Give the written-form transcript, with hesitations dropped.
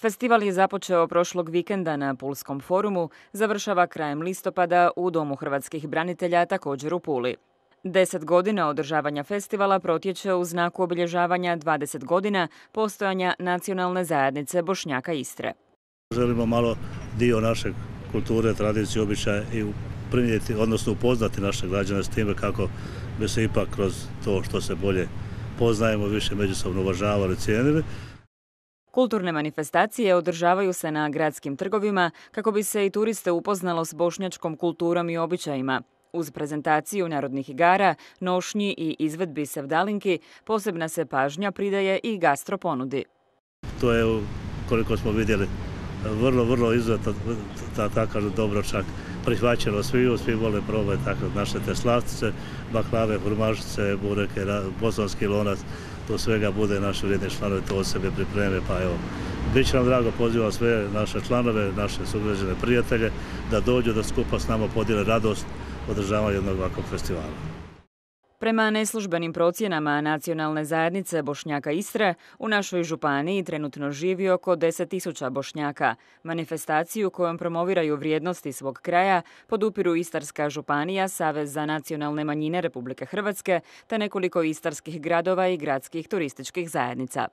Festival je započeo prošlog vikenda na Pulskom forumu, završava krajem listopada u Domu hrvatskih branitelja, također u Puli. 10 godina održavanja festivala protječe u znaku obilježavanja 20 godina postojanja nacionalne zajednice Bošnjaka Istre. Želimo malo dio naše kulture, tradicije, običaja i prenijeti, odnosno upoznati naše građane s time kako bi se ipak kroz to što se bolje poznajemo, više međusobno uvažavali, cijenili. Kulturne manifestacije održavaju se na gradskim trgovima kako bi se i turiste upoznalo s bošnjačkom kulturom i običajima. Uz prezentaciju narodnih igara, nošnji i izvedbi sevdalinki posebna se pažnja pridaje i gastro ponudi. To je, koliko smo vidjeli, vrlo izuzetno, tako dobro čak prihvaćeno svi vole probati tako naše te slatkice, baklave, hurmašice, bureke, bosanski lonac, to svega bude naši vrijedni članovi, to od sebe pripreme, pa evo. Biće nam drago, pozivam sve naše članove, naše sugrađane, prijatelje, da dođu da skupa s nama podijele radost održavanja jednog ovakvog festivala. Prema neslužbenim procjenama nacionalne zajednice Bošnjaka Istre, u našoj županiji trenutno živi oko 10.000 Bošnjaka. Manifestaciju kojom promoviraju vrijednosti svog kraja podupiru Istarska županija, Savez za nacionalne manjine Republike Hrvatske te nekoliko istarskih gradova i gradskih turističkih zajednica.